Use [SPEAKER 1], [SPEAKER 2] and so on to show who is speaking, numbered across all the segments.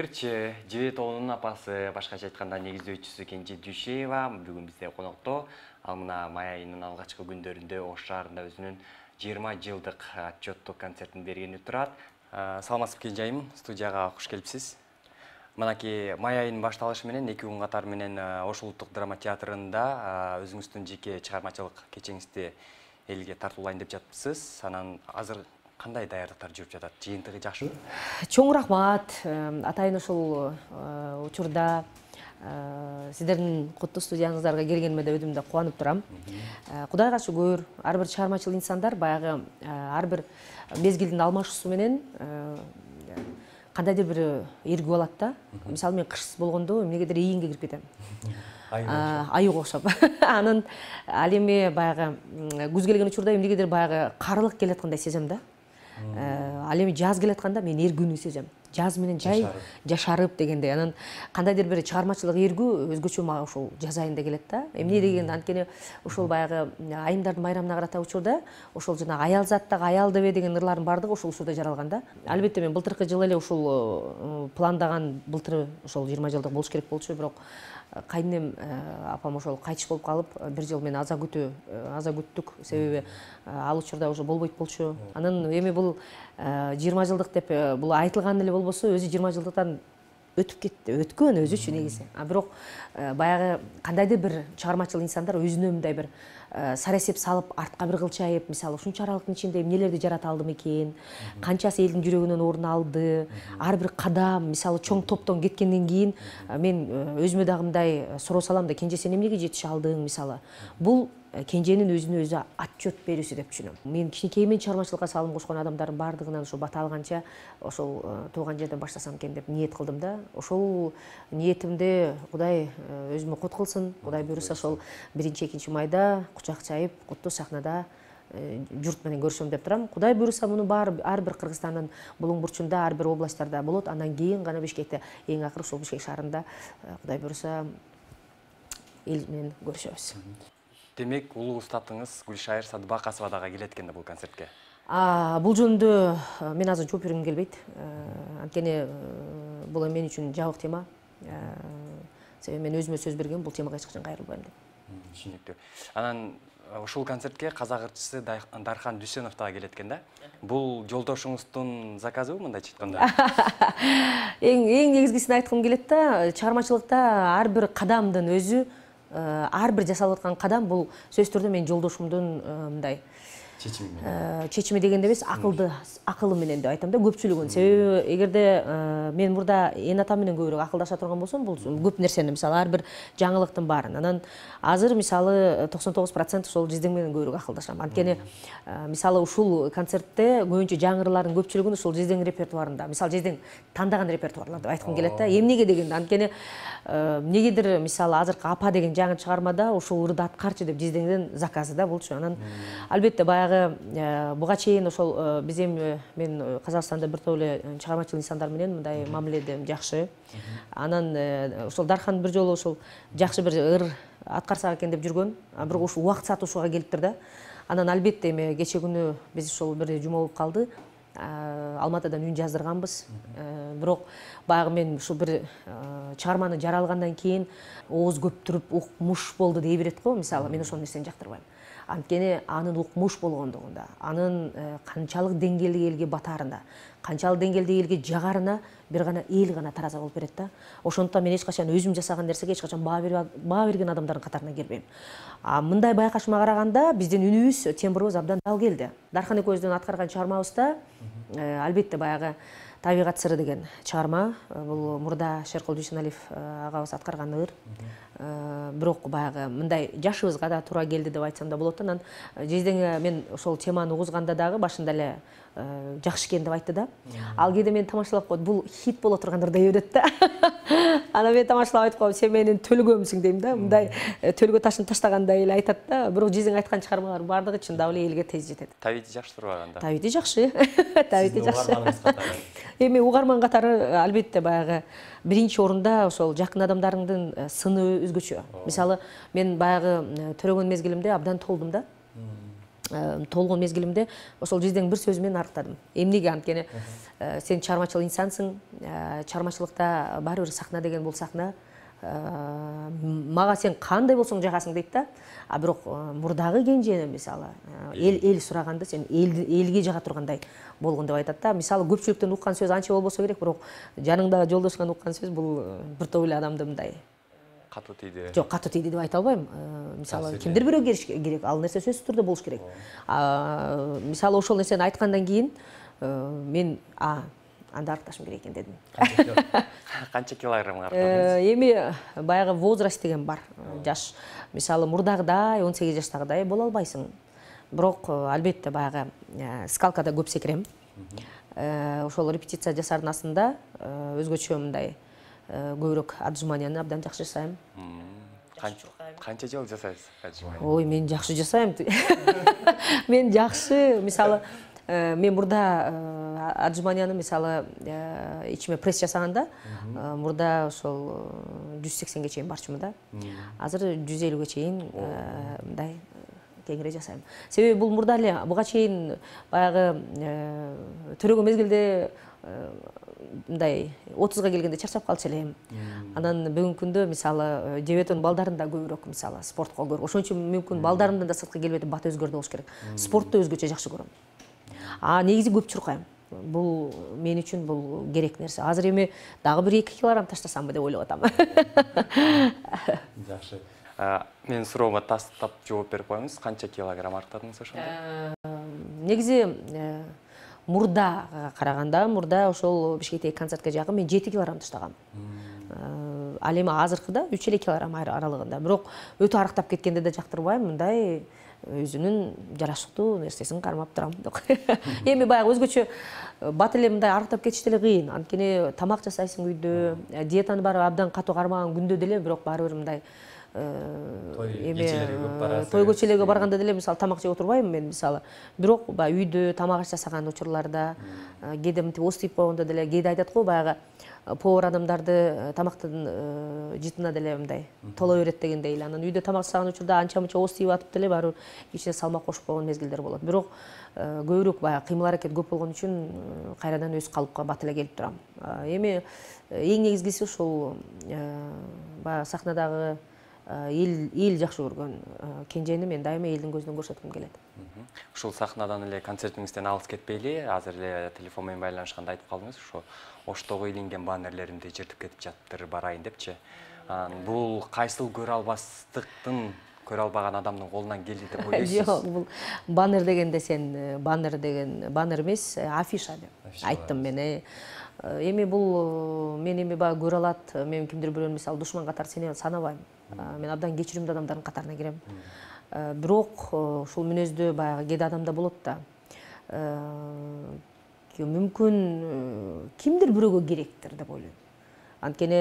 [SPEAKER 1] Ырчы Жибетоонун апасы, башкача айтканда негиздөөчүсү Кенже Дүйшеева бүгүн бизде конокто. Ал мына май айынын алгачкы күндөрүндө Ош шаарында өзүнүн 20 жылдык отчеттук концертин бергени турат. Саламатсызбы Кенжайым, студияга куш келипсиз. Мынакей май айынын башталышы менен 2 күн катары менен Ош улуттук драма театрында өзүңүздүн жеке чыгармачылык кечеңизди элге тартуулайын деп жатыпсыз. Анан азыр кандай даярдыктар жүрүп жатат? Жыйынтыгы жакшыбы?
[SPEAKER 2] Чоң рахмат. Атайын ушул учурда сиздердин куттуу студияңыздарга келгениме да өзүм да кубанып турам. Кудайга шүгүр, ар бир чыгармачыл инсандар баягы ар бир мезгилдин алмашуусу менен кандайдыр бир эргүү алат да. Мисалы мен кышсыз болгондо эмнегедир ийинге кирип кетем. Айыга окшоп. Анан ал эми баягы күз келген учурда эмнегедир баягы карылык келаткандай сезем да. Ал эми жаз келатканда мен эргүүнү сезем. Жаз менен жай жашарып дегендей. Анан кандайдыр бир чыгармачылык эргүү өзгөчө мага ушул жаз айында келет да. Эмне дегенде анткени ушул баягы айымдардын майрамына карата учурда ошол жана аял заттагы аял дебе деген ырлардын баардыгы ушул учурда жаралган да. Албетте мен былтыркы жылы эле ушул пландаган былтыр ошол 20 жылдык болуш керек болчу, бирок кайнем апам ошол кайтыш болуп калып, бир жыл мен аза күттүк, себеби ал учурда уже болбойт болчу. Анан эми бул 20 жылдык деп бул айтылган эле болбосо, өзү 20 жылдыктан өтүп кетти, өткөн өзүчү негизи. Бирок баягы кандайдыр бир чыгармачыл инсандар өзүнө мындай бир сарасеп салып, артка бир кылчайып, мисалы ушунча аралыктын ичинде эмнелерди жарата алдым экен, канчасы элдин жүрөгүнөн орун алды, ар бир кадам, мисалы чоң топтон кеткенден кийин мен өзүмө дагы мындай суроо салам да, Кенже сен эмнеге жетише алдың, мисалы. Бул Кенженин өзүнө өзү отчет берүүсү деп түшүнөм. Мен кичинекеймен чыгармачылыкка салым кошкон адамдардын баардыгынан ошо бата алганча ошол тууган жерден баштасам экен деп ниет кылдым да. Ошол ниетимди Кудай өзүмө кут кылсын. Кудай буйруса ошол 1-2 майда кучак чайып, куттуу сахнада журт менен көрүшөм деп турам. Кудай буйруса муну баары ар бир Кыргызстандын булуң бурчунда, ар бир областтарда болот. Андан кийин гана Бишкекте, эң акыры ушул Бишкек шаарында Кудай буйруса эл менен көрүшөбүз.
[SPEAKER 1] Демек, улуу устатыңыз Гүлшайыр Садыбакасова дагы келет экен да бул концертке.
[SPEAKER 2] Бул жөнүндө мен азыр жооп бергим келбейт. Анткени бул мен үчүн жабык тема. Себеби мен өзүмө сөз бергем, бул темага эч качан кайрылбайм деп.
[SPEAKER 1] Түшүнүктүү. Анан ушул концертке казак ырчысы Дархан Дүйсөнов дагы келет экен да. Бул жолдошуңуздун заказыбы мындайча айтканда?
[SPEAKER 2] Эң негизгисин айткым келет да, чыгармачылыкта ар бир кадамдын өзү, ар бир жасалып аткан кадам бул сөзсүз түрдө менин жолдошумдун мындай чечими дегенде эмес, акылы менен деп айтам да, көпчүлүгүн. Себеби эгерде мен мурда эн атам менен көбүрөөк акылдаша турган болсом, бул көп нерсени, мисалы ар бир жаңылыктын баарын. Анан азыр мисалы 99% ошол Жиздең менен көбүрөөк акылдашам. Анткени мисалы ушул концертте көбүнчө жаңырлардын көпчүлүгүн ушул Жиздең репертуарында, мисалы Жиздең тандаган репертуарлар деп айткым келет да. Эмнеге дегенде, анткени эмнегедир мисалы азыркы апа деген жаңы чыгармада ушул ырды аткарчы деп Жиздеңдин заказы да болчу. Анан албетте баягы буга чейин ошол биз эми мен Казакстанда бир топ эле чыгармачыл инсандар менен мындай мамиледем жакшы. Анан ошол Дархан бир жолу ошол жакшы бир ыр аткарсак экен деп жүргөн. Бирок ушул убакыт сатуусуга келиптир да. Анан албетте эми кече күнү биз ошол бир жума болуп калды. Алматыдан үн жаздырганбыз. Бирок баягы мен ушул бир чыгарманы жаралгандан кийин ооз көптүрүп укмуш болду дей берет го. Мисалы мен ошол нерсени жактырбайм. Анткени анын укмуш болгондугунда, анын канчалык деңгээлдеги элге батаарында, канчалык деңгээлдеги элге жагарына бир гана эл гана тараза болуп берет да. Ошондуктан мен эч качан өзүм жасаган нерсеге эч качан баа берген адамдардын катарына кирбейм. Мындай байкашыма караганда биздин үнүбүз, тембрыбыз абдан дал келди. Дархан экөөбүздүн аткарган чыгармабызда албетте баягы Табигат сыры деген чыгарма, бул мурда Шеркул Дүйсөналиев агабыз аткарган ыр. Бирок баягы мындай жашыбызга да туура келди деп айтсам да болот. Анан Жиздең мен ошол теманы угузганда дагы башында эле жакшы экен деп айтты да. Ал кээде мен тамашалап коет, бул хит боло тургандыр дей берет да. Анан мен тамашалап айтып коем, сен менин төлгөмсүң дейм да. Мындай төлгө ташын таштагандай эле айтат да. Бирок Жиздең айткан чыгармалар баардыгы чындап эле элге тез жетет.
[SPEAKER 1] Табити жакшы турбаганда?
[SPEAKER 2] Табити жакшы. Табити жакшы. Эми угарман катары албетте баягы биринчи орунда ошол жакын адамдарыңдын сыны өзгөчө. Мисалы мен баягы төрөгөн мезгилимде абдан толдум да. толгон мезгилимде ошол жиздин бир сөзү менен арыктадым. Эмнеге? Анткени сен чыгармачыл инсансың, чыгармачылыкта баары бир сахна деген бул сахна. Мага сен кандай болсоң жагасың дейт да. А бирок мурдагы кенже мисалы эл сураганды сен элге жага тургандай болгон деп айтат да. Мисалы көпчүлүктөн уккан сөз анча болбосо керек, бирок жаныңдагы жолдошуңан уккан сөз бул бир топ эле адамды мындай
[SPEAKER 1] катуу тийди.
[SPEAKER 2] Жок, катуу тийди деп айта албайм. Мисалы кимдир бирөө керек, ал нерсе сөзсүз түрдө болуш керек. Мисалы ошол нерсени айткандан кийин мен анда арыкташым керек экен дедим.
[SPEAKER 1] Канча килограмм арыктадыңыз?
[SPEAKER 2] Эми баягы возраст деген бар. Жаш. Мисалы мурдагыдай 18 жаштагыдай боло албайсың. Бирок албетте баягы скалкада көп секирем. Ошол репетиция жасаардын астында өзгөчө мындай көбүрөөк отжиманияны абдан жакшы жасайм.
[SPEAKER 1] Канча жыл жасайсыз отжимания?
[SPEAKER 2] Ой, мен жакшы жасайм. Мен жакшы, мисалы мен мурда отжиманияны мисалы ичиме пресс жасаганда мурда ошол 180ге чейин барчумун да. Азыр 150ге чейин мындай кеңири жасайм. Себеби бул мурда эле буга чейин баягы төрөгөн мезгилде мындай 30га келгенде чарчап калчу элем. Анан бүгүнкү күндө мисалы жебетон балдарын да көбүрөөк мисалы спортко көрүп. Ошон үчүн мүмкүн балдарымдан да сырткы келбеди бат өзгөрдү болуш керек. Спортты өзгөчө жакшы көрөм. Негизи көп чуркайм. Бул мен үчүн бул керек нерсе. Азыр эми дагы бир 2 килограмм таштасамбы деп ойлоп атам.
[SPEAKER 1] Жакшы. Менин суроомо тастап жооп берип коюңуз. Канча килограмм арттадыңыз ошондо?
[SPEAKER 2] Негизи мурда караганда, мурда ошол Бишкектеги концертке жакын мен 7 килограмм таштагам. Ал эми азыркыда 3 килограмм аралыгында. Бирок өтө арыктап кеткенде да жактырбайм, мындай өзүнүн жарашыктуу нерсесин кармап турам. Эми баягы өзгөчө бат эле мындай арыктап кетиш деле кыйын. Анткени тамак жасайсың үйдө, диетаны баары абдан катуу кармаган күндө деле, бирок баары бир мындай той көчөлөргө барганда деле мисалы тамак жеп отурбайм мен мисалы. Бирок баягы үйдө тамак аш жасаган учурларда, кээде мынтип ооз тийип койгондо деле, кээде айтат го баягы повар адамдарды тамактын жытына деле мындай толо берет дегендей эле. Анан үйдө тамак жасаган учурда анча-мынча ооз тийип атып деле баары кичине салмак кошуп койгон мезгилдер болот. Бирок көбүрөөк баягы кыймыл аракет көп болгон үчүн кайрадан өз калыпка бат эле келип турам. Эми эң негизгиси ушул баягы сахнадагы эл жакшы көргөн кенжени мен дайыма элдин көзүнөн көрсөткүм келет.
[SPEAKER 1] Ушул сахнадан эле концертиңизден алыс кетпейли, азыр эле телефон менен байланышканда айтып калдыңыз, ошо Оштогу илинген баннерлеримди жыртып кетип жатыптыр, барайын депчи. Бул кайсыл көрө албастыктын, көрө албаган адамдын колунан келди деп ойлойсуз?
[SPEAKER 2] Жок, бул баннер дегенде сен баннер эмес, афиша деп айттым мен. Эми бул мен эми баягы көрө алат, мен кимдир бирөөнү мисалы душман катары санабайм. Мен абдан кечиримдүү адамдардын катарына кирем. Бирок ушул мүнөздө баягы кээде адамда болот да. Мүмкүн кимдир бирөөгө керектир деп ойлойм. Анткени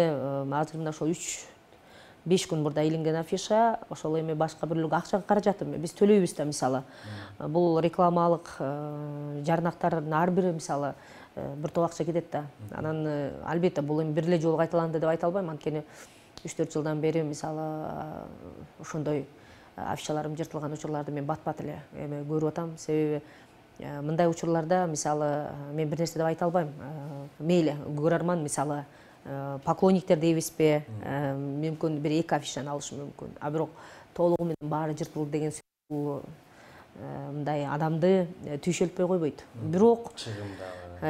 [SPEAKER 2] азыр мына ошол 3-5 күн мурда илинген афиша, ошол эми башка бирлерге акча каражаты биз төлөйбүз да мисалы. Бул рекламалык жарнактардын ар бири мисалы бир топ акча кетет да. Анан албетте бул эми бир эле жолу кайталанды деп айта албайм, анткени 3-4 жылдан бери мисалы ошондой афишаларым жыртылган учурларды мен бат-бат эле эме көрүп атам. Себеби мындай учурларда мисалы мен бир нерсе деп айта албайм. Мейли көрөрман мисалы поклонниктер дейбизби, мүмкүн бир 2 афишаны алышы мүмкүн. А бирок толугу менен баары жыртылды деген сөз мындай адамды түйшөлтпөй койбойт. Бирок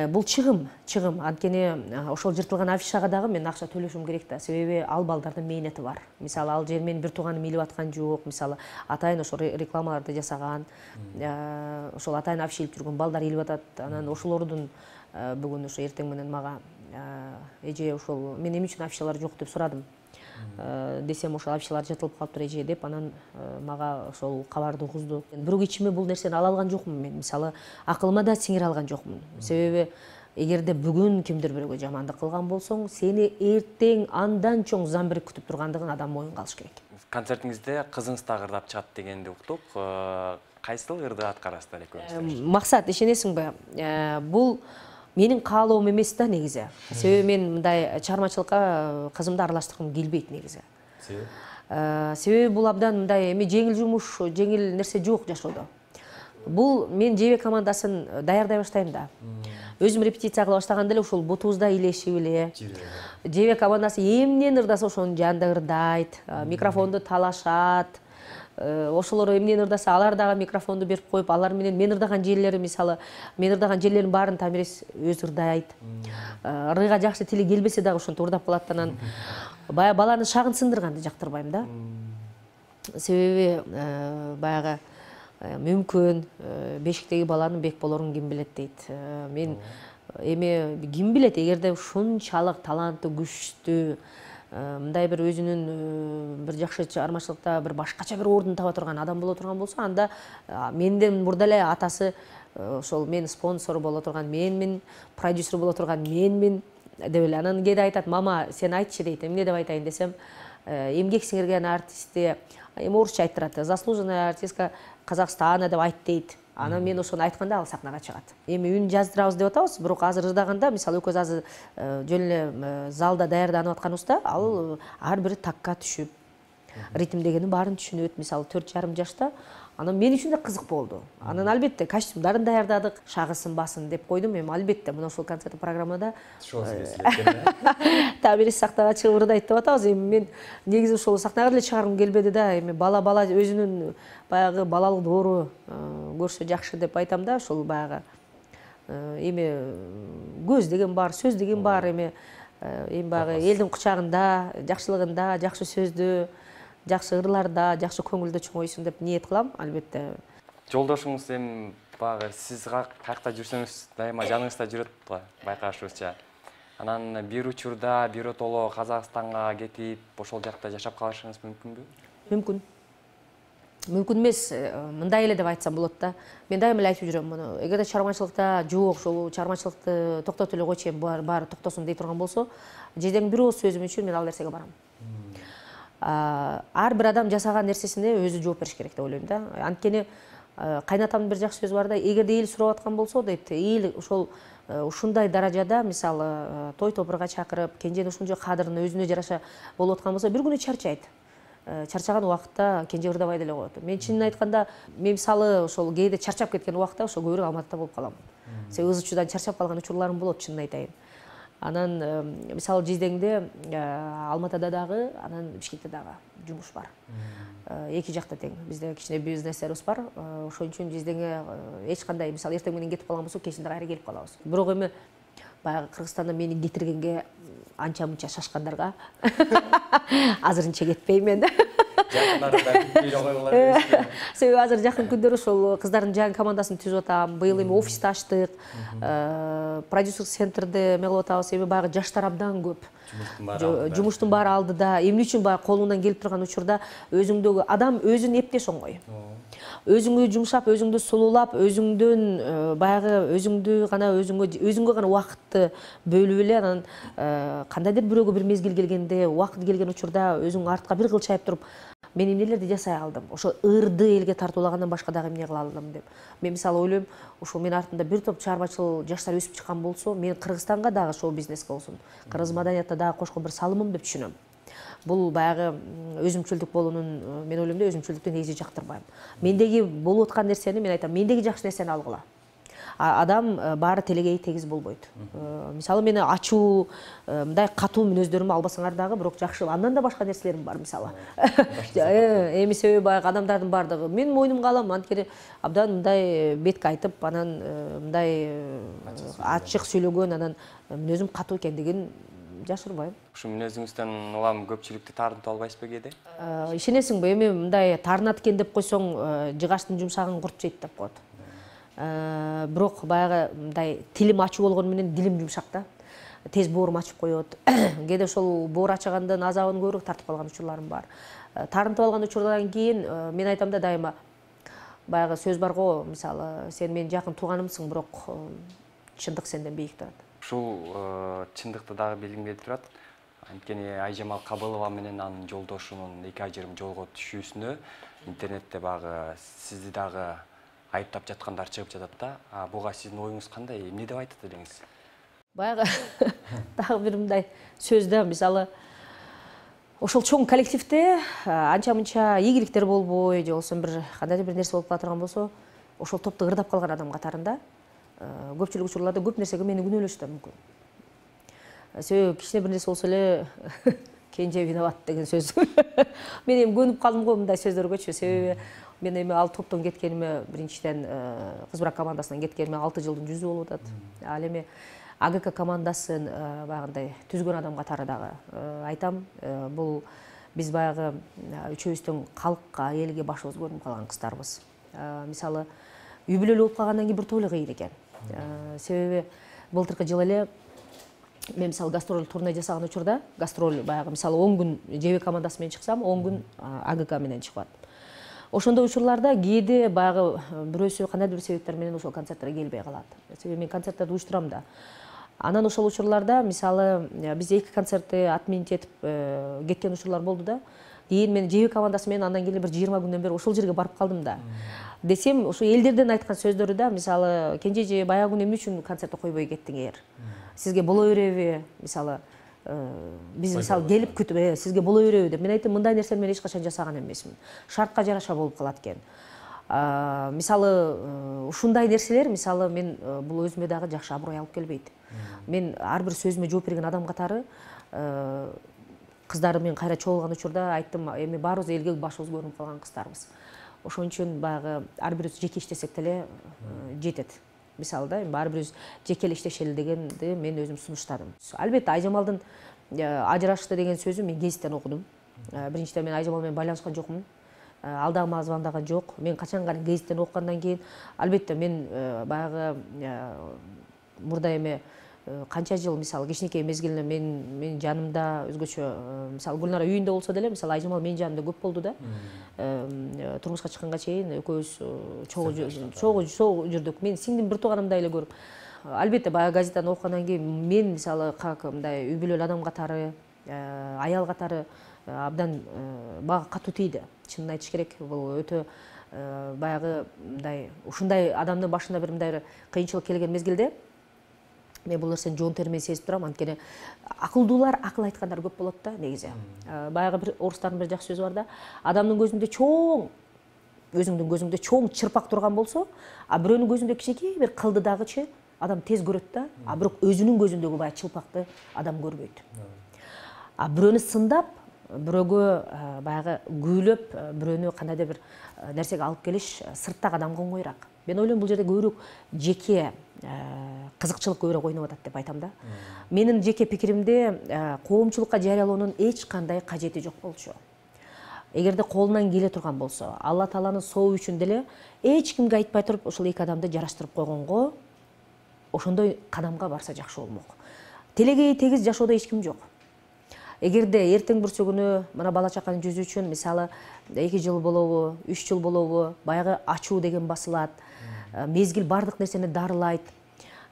[SPEAKER 2] бул чыгым. Анткени ошол жыртылган афишага дагы мен акча төлөшүм керек да. Себеби ал балдардын мээнети бар. Мисалы ал жер менин бир тууганым илип аткан жок. Мисалы атайын ошол рекламаларды жасаган, ошол атайын афиша илип жүргөн балдар илип атат. Анан ошолордун бүгүн ошо эртең менен мага эже ошол мен эмне үчүн афишалар жок деп сурадым. Десем ошол афишалар жыртылып калыптыр эже деп, анан мага ошол кабарды угузду. Бирок ичиме бул нерсени ала алган жокмун мен. Мисалы акылыма да сиңире алган жокмун. Себеби эгерде бүгүн кимдир бирөөгө жамандык кылган болсоң, сени эртең андан чоң замбирик күтүп тургандыгын адам моюнга алыш керек. Концертиңизде
[SPEAKER 1] кызыңыз да ырдап чыгат дегенди уктук. Кайсыл ырды аткарасыздар экөөңүз?
[SPEAKER 2] Максат, ишенесиңби? Бул менин каалоом эмес да негизи. Себеби мен мындай чыгармачылыкка кызымды аралаштыргым келбейт негизи. Себеби бул абдан мындай эми жеңил жумуш, жеңил нерсе жок жашоодо. Бул мен ЖБ командасын даярдай баштайм да. Өзүм репетиция кыла баштаганда эле ушул бутубузда илешип эле. ЖБ командасы эмнени ырдаса ошонун жанында ырдайт, микрофонду талашат. Ошолор эмнени ырдаса алар дагы микрофонду берип коюп, алар менен мен ырдаган жерлери, мисалы, мен ырдаган жерлердин баарын Тамирес өзү ырдайт. Ырыйга жакшы тили келбесе дагы ошентип ырдап калат. Анан баягы баланы шагын сындырганды жактырбайм да. Себеби баягы мүмкүн бешиктеги баланын бек болорун ким билет дейт. Мен эми ким билет, эгерде ушунчалык таланттуу, күчтүү, мындай бир өзүнүн бир жакшы чыгармачылыкта бир башкача бир ордун таба турган адам боло турган болсо, анда менден мурда эле атасы ошол мен спонсор боло турган менмин, продюсер боло турган менмин деп эле. Анан кээде айтат: "Мама, сен айтчы" дейт. Эмне деп айтайын десем, эмгек сиңирген артистти эми орусча айттырат. Заслуженная артистка Казакстана деп айт дейт. Анан мен ошону айтканда ал сахнага чыгат. Эми үн жаздырабыз деп атабыз, бирок азыр ырдаганда, мисалы, экөөбүз азыр жөн эле залда даярданып атканыбызда, ал ар бири такка түшүп, ритмдегенин баарын түшүнөт. Мисалы 4,5 жашта. Анан мен үчүн да кызык болду. Анан албетте костюмдарын даярдадык, шагы сынбасын деп койдум. Эми албетте мына ушул концерттик программада Тамирес сахнага чыгып ырдайт деп атабыз. Эми мен негизи ошол сахнага деле чыгаргым келбеди да. Эми бала өзүнүн баягы балалык доору көрсө жакшы деп айтам да. Ошол баягы эми көз деген бар, сөз деген бар. Эми баягы элдин кучагында, жакшылыгында, жакшы сөздө, жакшы ырларда, жакшы көңүлдө чоңойсун деп ниет кылам. Албетте
[SPEAKER 1] жолдошуңуз эми баягы сиз каякта жүрсөңүз дайыма жаныңызда жүрөт го, байкашыбызча. Анан бир учурда биротоло Казакстанга кетип, ошол жакта жашап калышыңыз мүмкүнбү?
[SPEAKER 2] Мүмкүн. Мүмкүн эмес, мындай эле деп айтсам болот да. Мен дайыма эле айтып жүрөм муну. Эгерде чыгармачылыкта жок, ошол чыгармачылыкты токтотуп эле койчу, баары токтосун дей турган болсо, жеден бир ооз сөзүм үчүн мен ал нерсеге барам. Ар бир адам жасаган нерсесине өзү жооп бериш керек деп ойлойм да. Анткени кайнатамдын бир жакшы сөзү бар да: эгерде эл сурап аткан болсо дейт, эл ошол ушундай даражада, мисалы, той топурга чакырып, кенженин ушунча кадырын өзүнө жараша болуп аткан болсо, бир күнү чарчайт. Чарчаган убакытта кенже ырдабай деле коет. Мен чынын айтканда, мен мисалы ошол кээде чарчап кеткен убакта ошол көбүрөөк Алматыда болуп калам. Себеби ыз чуудан чарчап калган учурларым болот, чынын айтайын. Анан мисалы Жиздеңде, Алматыда дагы, анан Бишкекте дагы жумуш бар. Эки жакта тең. Бизде кичине бизнестерибиз бар. Ошон үчүн Жиздеңе эч кандай, мисалы, эртең менен кетип калган болсо, кечинде кайра келип калабыз. Бирок эми баягы Кыргызстанда мени кетиргенге анча мынча шашкандарга азырынча кетпейм мен. Себеби азыр жакын күндөрү ошол кыздардын жаңы командасын түзүп атам. Быйыл эми офисти ачтык. Продюсер центрде эме кылып атабыз. Эми баягы жаштар абдан көп. Жумуштун баары алдыда. Эмне үчүн баягы колуңдан келип турган учурда өзүңдөгү адам өзүн эптеш оңой. Өзүңдү жумшап, өзүңдү сулуулап, өзүңдөн баягы өзүңдү гана өзүңгө гана убакытты бөлүп эле, анан кандайдыр бирөөгө бир мезгил келгенде, убакыт келген учурда өзүң артка бир кылчайып туруп, мен эмнелерди жасай алдым, ошо ырды элге тартуулагандан башка дагы эмне кыла алдым деп. Мен мисалы ойлойм, ошол мен артында бир топ чыгармачыл жаштар өсүп чыккан болсо, мен Кыргызстанга дагы шоу бизнеске болсун, кыргыз маданиятына дагы кошкон бир салымым деп түшүнөм. Бул баягы өзүмчүлдүк болуунун, мен ойлойм да, өзүмчүлдүктү негизи жактырбайм. Мендеги болуп аткан нерсени мен айтам, мендеги жакшы нерсени алгыла. Адам баары телегей тегиз болбойт. Мисалы, мени ачуу, мындай катуу мүнөздөрүмдү албасаңар дагы, бирок жакшы, андан да башка нерселерим бар, мисалы. Эми себеби баягы адамдардын баардыгы мен мойнумга алам, анткени абдан мындай бетке айтып, анан мындай ачык сүйлөгөн, анан мүнөзүм катуу экендигин жашырбайм.
[SPEAKER 1] Ушу мүнөзүңүздөн улам көпчүлүктү таарынтып албайсызбы кээде?
[SPEAKER 2] Ишенесиңби, эми мындай таарынат экен деп койсоң, жыгачтын жумшагын курт жейт деп коет. Бирок баягы мындай тилим ачуу болгону менен дилим жумшак да. Тез боорум ачып коет. Кээде ошол боор ачыгандын азабын көбүрөөк тартып калган учурларым бар. Таарынтып алган учурдан кийин мен айтам да дайыма, баягы сөз бар го, мисалы, сен менин жакын тууганымсың, бирок чындык сенден бийик турат.
[SPEAKER 1] Ушул чындыкты дагы белгилеп турат. Анткени Айжамал Кабылова менен анын жолдошунун 2 ажырым жолго түшүүсүнө интернетте баягы сизди дагы айыптап жаткандар чыгып жатат да. Буга сиздин оюңуз кандай? Эмне деп айтат элеңиз?
[SPEAKER 2] Баягы дагы бир мындай сөз да, мисалы, ошол чоң коллективде анча-мынча ийгиликтер болбой, же болбосо бир кандайдыр бир нерсе болуп кала турган болсо, ошол топту ырдап калган адам катарында. Көпчүлүк учурларда көп нерсеге мени күнөөлөшү да мүмкүн. Себеби кичине бир нерсе болсо эле кенже виноват деген сөз. Мен эми көнүп калдым го мындай сөздөргөчү. Себеби мен эми ал топтон кеткениме биринчиден кыз брак командасынан кеткениме 6 жылдын жүзү болуп атат. Ал эми АГК командасын баягындай түзгөн адам катары дагы айтам, бул биз баягы үчөөбүздүн калкка, элге башыбыз көрүнүп калган кыздарбыз. Мисалы, үй бүлөлүү болуп калгандан кийин бир тойлы кыйын экен. Себеби былтыркы жылы эле мен мисалы гастроль турне жасаган учурда, гастроль баягы мисалы 10 күн ЖБ командасы менен чыксам, 10 күн АГК менен чыгып атат. Ошондой учурларда кээде баягы бирөөсү кандайдыр бир себептер менен ошол концерттерге келбей калат. Себеби мен концерттерди уюштурам да. Анан ошол учурларда мисалы биз 2 концертти отменить этип кеткен учурлар болду да. Кийин мен ЖБ командасы менен андан кийин бир 20 күндөн бери ошол жерге барып калдым да. Десем, ошо элдерден айткан сөздөрү да, мисалы, кенжеже баягы күнү эмне үчүн концертти койбой кеттиңер? Сизге боло береби? Мисалы, биз мисалы келип күтүп, сизге боло береби деп. Мен айттым, мындай нерсени мен эч качан жасаган эмесмин. Шартка жараша болуп калат экен. Мисалы, ушундай нерселер, мисалы, мен бул өзүмө дагы жакшы аброй алып келбейт. Мен ар бир сөзүмө жооп берген адам катары кыздары менен кайра чогулган учурда айттым, эми баарыбыз элге башыбыз көрүнүп калган кыздарбыз. Ошон үчүн баягы ар бирибиз жеке иштесек деле жетет. Мисалы да, ар бирибиз жеке эле иштешели дегенди мен өзүм сунуштадым. Албетте Айжамалдын ажырашты деген сөзү мен гезиттен окудум. Биринчиден мен Айжамал менен байланышкан жокмун. Ал дагы мага звондаган жок. Мен качан гезиттен окугандан кийин албетте мен баягы мурда эми канча жыл мисалы кичинекей мезгилинде мен жанымда өзгөчө мисалы Гүлнара үйүндө болсо деле мисалы Айжамал менин жанымда көп болду да. Турмушка чыкканга чейин экөөбүз чогуу жүрдүк. Мен сиңдим бир тууганымдай эле көрүп. Албетте баягы газетаны окугандан кийин мен мисалы как мындай үй бүлөлүү адам катары, аял катары абдан мага катуу тийди. Чынын айтыш керек, бул өтө баягы мындай ушундай адамдын башына бир мындай кыйынчылык келген мезгилде мен бул нерсени жоон термен сезип турам, анткени акылдуулар акыл айткандар көп болот да негизи. Баягы бир орустардын бир жакшы сөзү бар да, адамдын көзүндө чоң, өзүңдүн көзүңдө чоң чырпак турган болсо, а бирөөнүн көзүндө кичинекей бир кылды дагычы адам тез көрөт да, а бирок өзүнүн көзүндөгү баягы чылпакты адам көрбөйт. А бирөөнү сындап, бирөөгө баягы күүлөп, бирөөнү кандайдыр бир нерсеге алып келиш сырттагы адамга оңоюраак. Мен ойлойм бул жерде көбүрөөк жеке кызыкчылык көбүрөөк ойноп атат деп айтам да. Менин жеке пикиримде коомчулукка жарыялоонун эч кандай кажети жок болчу. Эгерде колунан келе турган болсо, Алла Тааланын сообу үчүн деле эч кимге айтпай туруп ошол эки адамды жараштырып койгонго ошондой кадамга барса жакшы болмок. Телегей тегиз жашоодо эч ким жок. Эгерде эртең бүрсү күнү мына бала чаканын жүзү үчүн мисалы 2 жыл болобу, 3 жыл болобу, баягы ачуу деген басылат, мезгил бардык нерсени дарылайт.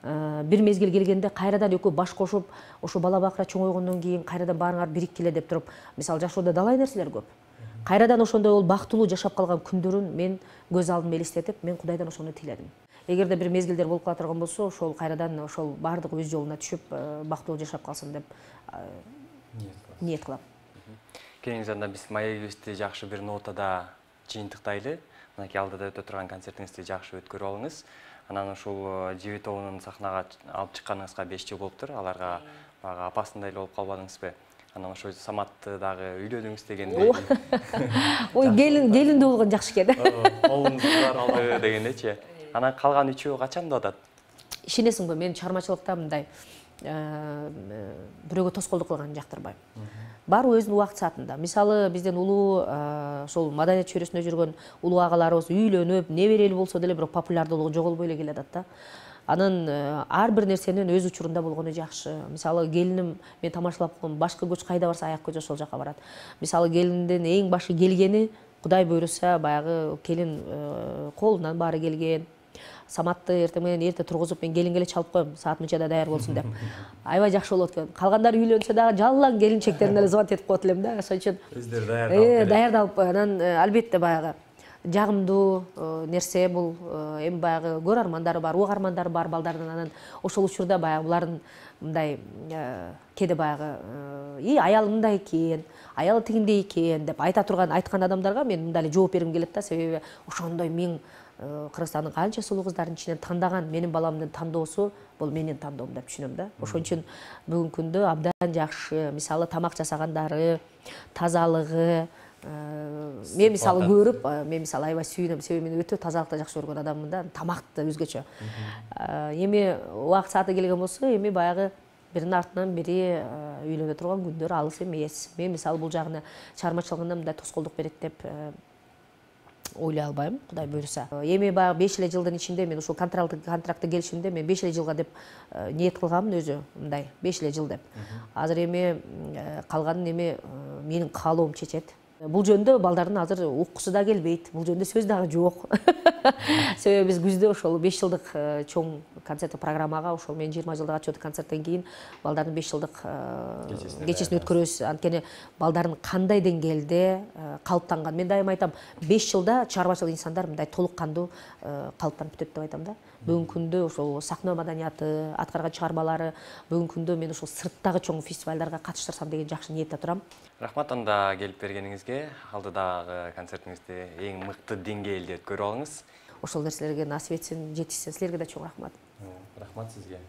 [SPEAKER 2] Бир мезгил келгенде кайрадан экөө баш кошуп, ошо бала бакыра чоңойгондон кийин кайрадан баарыңар бириккиле деп туруп, мисалы жашоодо далай нерселер көп. Кайрадан ошондой ол бактылуу жашап калган күндөрүн мен көз алдыма элестетип, мен Кудайдан ошону тиледим. Эгерде бир мезгилдер болуп кала турган болсо, ошол кайрадан ошол бардык өз жолуна түшүп, бактылуу жашап калсын деп ниет кылам.
[SPEAKER 1] Келиңиз анда биз маегибизди жакшы бир нотада жыйынтыктайлы. Мынакей алдыда өтө турган концертиңизди жакшы өткөрүп алыңыз. Анан ушул ЖБ тобунун сахнага алып чыкканыңызга 5 жыл болуптур. Аларга баягы апасындай эле болуп калбадыңызбы? Анан ошо Саматты дагы үйлөдүңүз дегенде.
[SPEAKER 2] Ой, келиндүү болгон жакшы экен.
[SPEAKER 1] Колуңузду алды дегендечи. Анан калган үчөө качанда атат?
[SPEAKER 2] Ишенесиңби, мен чыгармачылыкта мындай бирөөгө тоскоолдук кылганды жактырбайм. Баары өзүнүн убакыт саатында. Мисалы, бизден улуу ошол маданият чөйрөсүндө жүргөн улуу агаларыбыз үйлөнүп, неберели болсо деле бирок популярдуулугу жоголбой эле келатат да. Анан ар бир нерсенин өз учурунда болгону жакшы. Мисалы, келиним мен тамашалап койгом, башкы көч кайда барса аяк көчү ошол жака барат. Мисалы, келиндин эң башы келгени, Кудай буйруса, баягы келин колунан баары келген. Саматты эртең менен эрте тургузуп, мен келинге эле чалып коем, саат мынчада даяр болсун деп. Аябай жакшы болот экен. Калгандары үйлөнсө дагы жалаң келинчектерине эле звонок этип коет элем да. Ошон үчүн өздөрү даярдалып, анан албетте баягы жагымдуу нерсе бул. Эми баягы көрөрмандары бар, угармандары бар балдардын. Анан ошол учурда баягы булардын мындай кээде баягы аялы мындай экен, аялы тигиндей экен деп айткан адамдарга мен мындай эле жооп бергим келет да, себеби ошондой миң Кыргызстандын канча сулуу кыздардын ичинен тандаган менин баламдын тандоосу бул менин тандоом деп түшүнөм да. Ошон үчүн бүгүнкү күндө абдан жакшы, мисалы тамак жасагандары, тазалыгы. Мен мисалы көрүп, мен мисалы аябай сүйүнөм, себеби мен өтө тазалыкты жакшы көргөн адаммын да, тамакты өзгөчө. Эми убакыт сааты келген болсо, эми баягы биринин артынан бири үйлөнө турган күндөр алыс эмес. Мен мисалы бул жагына чыгармачылыгына мындай тоскоолдук берет деп ойлой албайм, Кудай буйруса. Эми баягы 5 эле жылдын ичинде мен ушул контрактты келишимде мен 5 эле жылга деп ниет кылганмын өзү, мындай 5 эле жыл деп. Азыр эми калганын эми менин каалоом чечет. Бул жөндө балдардын азыр уккусу да келбейт, бул жөндө сөз дагы жок. Себеби биз күздө ошол 5 жылдык чоң концерттик программага, ошол мен 20 жылдык отчеттик концерттен кийин балдардын 5 жылдык кечесин өткөрөбүз. Анткени балдардын кандай деңгээлде калыптанган. Мен дайыма айтам, 5 жылда чыгармачыл инсандар мындай толук кандуу калыптанып бүтөт деп айтам да. Бүгүнкү күндө ошол сахна маданияты, аткарган чыгармалары, бүгүнкү күндө мен ошол сырттагы чоң фестивалдарга катыштырсам деген жакшы ниетте турам.
[SPEAKER 1] Рахмат анда келип бергениңизге, алдыдагы концертиңизди эң мыкты деңгээлде өткөрүп алыңыз.
[SPEAKER 2] Ошол нерселерге насип этсин, жетишсин. Силерге да чоң рахмат.
[SPEAKER 1] Рахмат сизге.